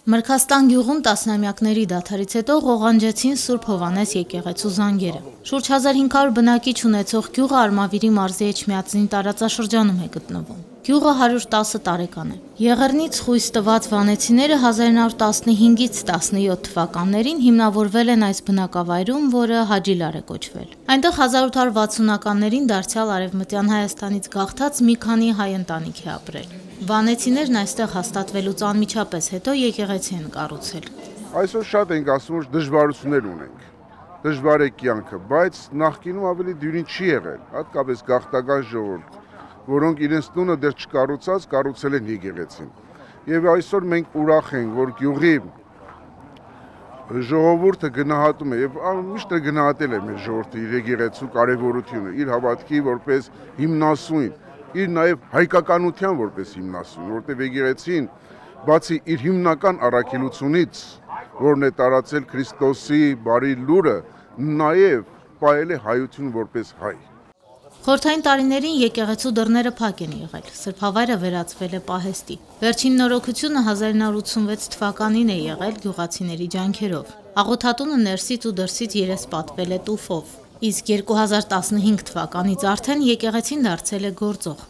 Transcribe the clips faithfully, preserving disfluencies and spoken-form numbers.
Մրգաստան գյուղում տասնամյակների դադարից հետո ղողանջեցին Սուրբ Հովհաննես եկեղեցու զանգերը։ Շուրջ հազար հինգ հարյուր բնակիչ ունեցող գյուղը Արմավիրի մարզի Էջմիածնի տարածաշրջանում է գտնվում։ Գյուղը հարյուր տասը տարեկան է։ Եղեռնից խույս տված վանեցիները հազար նոր տասնհինգից տասնյոթ թվականներին հիմնավորվել են այս բնակավայրում, որը Հաջիլար է կոչվել։ Այնտեղ հազար ութ հարյուր վաթսունականներին դարձյալ Արևմտյան Հայաստանից գաղթած մի քանի հայ ընտանիք է ապրել։ Վանեցիներն այստեղ հաստատվելուց անմիջապես հետո եկեղեցի են կառուցել։ Այսօր շատ ենք ասում, որ դժվարություններ ունենք։ Դժվար է կյանքը, բայց նախկինում ավելի դյուրին չի եղել, հատկապես գաղթական ժողովուրդ, որոնք իրենց տունը դեռ չկառուցած կառուցել են եկեղեցին։ Եվ այսօր մենք ուրախ ենք, որ գյուղի ժողովուրդը գնահատում է եւ միշտ գնահատել է մեր ժողովրդի իր եկեղեցու կարեւորությունը, իր հավատքի որպես հիմնասույն, իր նաեւ հայկականության որպես հիմնասույն, որտեղ եկեղեցին բացի իր հիմնական առաքելությունից, որն է տարածել Քրիստոսի բարի լուրը, նաեւ պահել է հայություն որպես հայ։ Խորհրդային տարիներին եկեղեցու դռները փակ են եղել, սրբավայրը վերածվել է պահեստի։ Վերջին նորոգությունը հազար նոր ութսունվեց թվականին է եղել գյուղացիների ջանքերով։ Աղոթատունը ներսից ու դրսից երես պատվել է տուֆով, իսկ երկու հազար տասնհինգ թվականից արդեն եկեղեցին դարձել է գործող։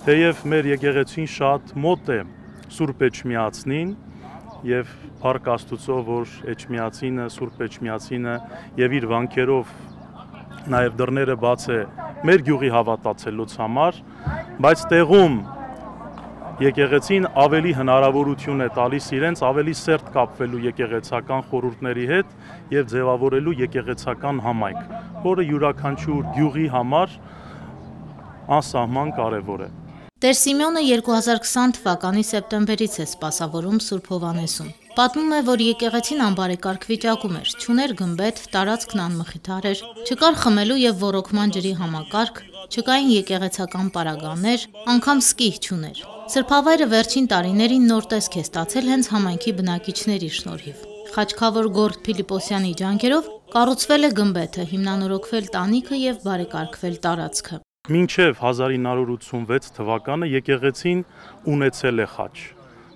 Թեև մեր եկեղեցին շատ մոտ է Սուրբ Էջմիածնին եւ փառք Աստուծո, որ Էջմիածինը, Սուրբ Էջմիածինը եւ իր վանքերով նաեւ դռները բաց է մեր գյուղի հավատացելուց համար, բայց տեղում եկեղեցին ավելի հնարավորություն է տալիս իրենց ավելի սերտ կապվելու եկեղեցական խորհուրդների հետ եւ ձևավորելու եկեղեցական համայնք, որը յուրաքանչյուր գյուղի համար անսահման կարեւոր է։ Տեր Սիմեոնը երկու հազար քսան թվականի սեպտեմբերից է սպասավորում Սուրբ Հովհաննեսում։ Պատմում է, որ եկեղեցին անբարեկարգ վիճակում էր, չուներ գմբեթ, տարածքն անմխիթար էր, չկար խմելու եւ ոռոգման ջրի համակարգ, չկային եկեղեցական պարագաներ, անգամ սկիհ չուներ։ Սրբավայրը վերջին տարիներին նոր տեսք է ստացել հենց համայնքի բնակիչների շնորհիվ։ Խաչքավոր Գորգ Փիլիպոսյանի ջանքերով կառուցվել է գմբեթը, հիմնանորոգվել տանիքը եւ բարեկարգվել տարածքը։ Մինչև հազար ինը հարյուր ութսունվեց թվականը եկեղեցին ունեցել է խաչ։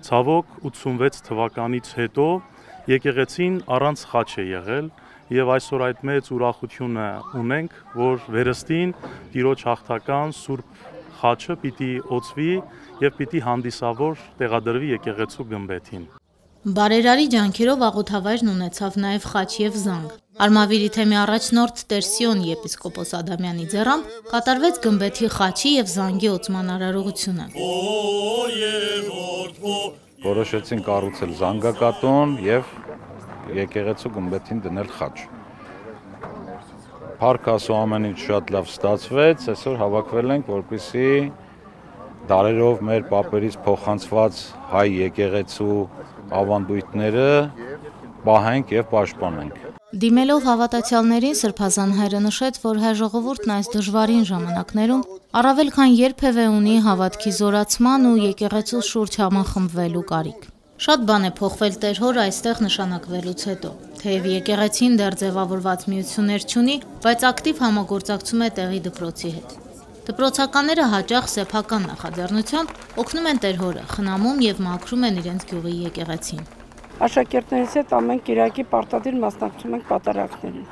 Ցավոք ութսունվեց թվականից հետո եկեղեցին առանց խաչ է եղել եւ այսօր այդ մեծ ուրախությունը ունենք, որ վերստին Տիրոջ հաղթական Սուրբ խաչը պիտի օծվի եւ պիտի հանդիսավոր տեղադրվի եկեղեցու գմբեթին։ Բարերարի ջանքերով աղոթավայրն ունեցավ նաև խաչ եւ զանգ։ Արմավիրի թեմի առաջնորդ Տեր Սիոն եպիսկոպոս Ադամյանի ձեռամբ կատարվեց գմբեթի խաչի եւ զանգի օծման արարողությունը։ Որոշեցին կառուցել զանգակատուն եւ եկեղեցու գմբեթին դնել խաչ։ Փառք Աստծո, ամեն ինչ շատ լավ ստացվեց, այսօր հավաքվել ենք, որպեսզի դարերով մեր պապերից փոխանցված հայ եկեղեցու ավանդույթները պահենք եւ պաշտպանենք։ Դիմելով հավատացյալներին Սրբազան հայրը նշեց, որ հայ ժողովուրդն այս դժվարին ժամանակներում առավել քան երբևէ ունի հավատքի զորացման ու եկեղեցու շուրջ համախմբվելու կարիք։ Շատ բան է փոխվել Տեր Հոր այստեղ նշանակվելուց հետո։ Թեև եկեղեցին դեռ ձևավորված միություններ չունի, բայց ակտիվ համագործակցում է տեղի դպրոցի հետ։ Դպրոցականները հաճախ սեփական նախաձեռնությամբ օգնում են Տեր Հորը, խնամում եւ մաքրում են իրենց գյուղի եկեղեցին։ Աշակերտներից հետ ամեն կիրակի պարտադիր մասնակցում ենք պատարագներին։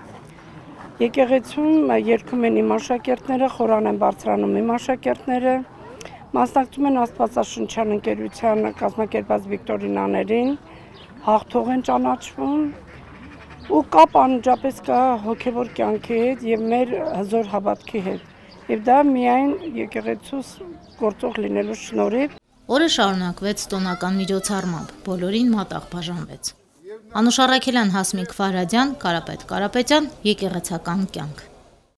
Եկեղեցում երգում են իմ աշակերտները, խորան են բարձրանում իմ աշակերտները, մասնակցում են Աստվածաշնչյան ընկերության կազմակերպած վիկտորինաներին, հաղթող են ճանաչվում ու կապ անմիջապես կա հոգևոր կյանքի հետ եւ մեր հզոր հավատքի հետ։ Եվ դա միայն եկեղեցուս գործող լինելու շնորհիվ։ Օրը շարունակվեց տոնական միջոցառմամբ, բոլորին մատաղ բաժանվեց։ Անուշ Առաքելյան, Հասմիկ Ֆարադյան, Կարապետ Կարապետյան, եկեղեցական կյանք։